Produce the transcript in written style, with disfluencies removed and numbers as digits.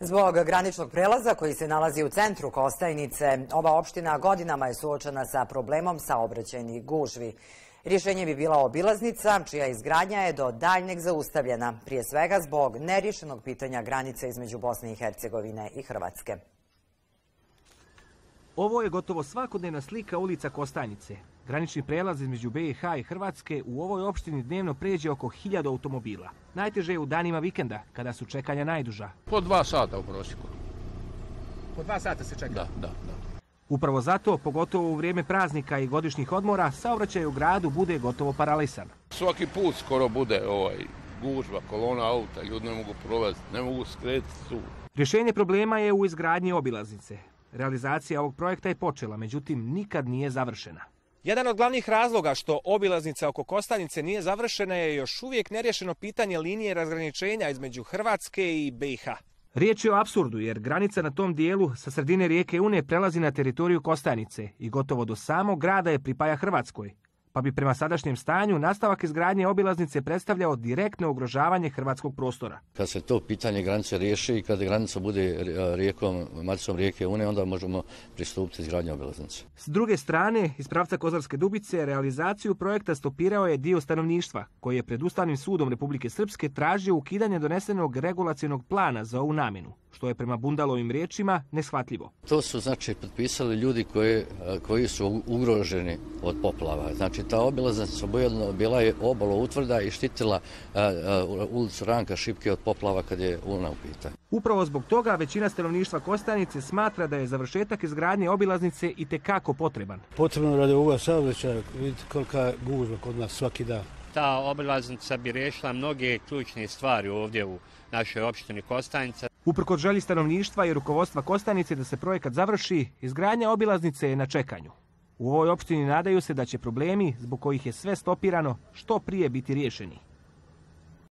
Zbog graničnog prelaza koji se nalazi u centru Kostajnice, ova opština godinama je suočena sa problemom saobraćajnih gužvi. Rješenje bi bila obilaznica, čija izgradnja je do daljnjeg zaustavljena, prije svega zbog nerješenog pitanja granice između Bosne i Hercegovine i Hrvatske. Ovo je gotovo svakodnevna slika ulica Kostajnice. Granični prelaz između BiH i Hrvatske u ovoj opštini dnevno pređe oko 1000 automobila. Najteže je u danima vikenda, kada su čekanja najduža. Po 2 sata u prosjeku. Po 2 sata se čeka? Da. Upravo zato, pogotovo u vrijeme praznika i godišnjih odmora, saobraćaj u gradu bude gotovo paralisan. Svaki put skoro bude gužva, kolona auta, ljudi ne mogu prolaziti, ne mogu skretiti tu. Rješenje problema je u izgradnji obilaznice. Realizacija ovog projekta je počela, međutim nikad nije završena. Jedan od glavnih razloga što obilaznica oko Kostajnice nije završena je još uvijek nerješeno pitanje linije razgraničenja između Hrvatske i BiH. Riječ je o apsurdu jer granica na tom dijelu sa sredine rijeke Une prelazi na teritoriju Kostajnice i gotovo do samog grada je pripaja Hrvatskoj. Pa bi prema sadašnjem stanju nastavak izgradnje obilaznice predstavljao direktno ugrožavanje hrvatskog prostora. Kad se to pitanje granice riješi i kad granica bude maticom rijeke Une, onda možemo pristupiti izgradnje obilaznice. S druge strane, iz pravca Kozarske Dubice, realizaciju projekta stopirao je dio stanovništva, koji je pred Ustavnim sudom Republike Srpske tražio ukidanje donesenog regulacionog plana za ovu namjenu, što je prema Bundalovim riječima neshvatljivo. To su potpisali ljudi koji su ugroženi od poplava. Ta obilaznica bila je obalo utvrda i štitila ulicu Ranka Šipke od poplava kad je Una u pitanju. Upravo zbog toga većina stanovništva Kostajnice smatra da je završetak izgradnje obilaznice itekako potreban. Potrebno radi ovoga saobraćaja, vidite kolika gužva kod nas svaki dan. Ta obilaznica bi riješila mnoge ključne stvari ovdje u našoj opštini Kostajnica. Uprkos želji stanovništva i rukovodstva Kostajnice da se projekat završi, izgradnja obilaznice je na čekanju. U ovoj opštini nadaju se da će problemi, zbog kojih je sve stopirano, što prije biti riješeni.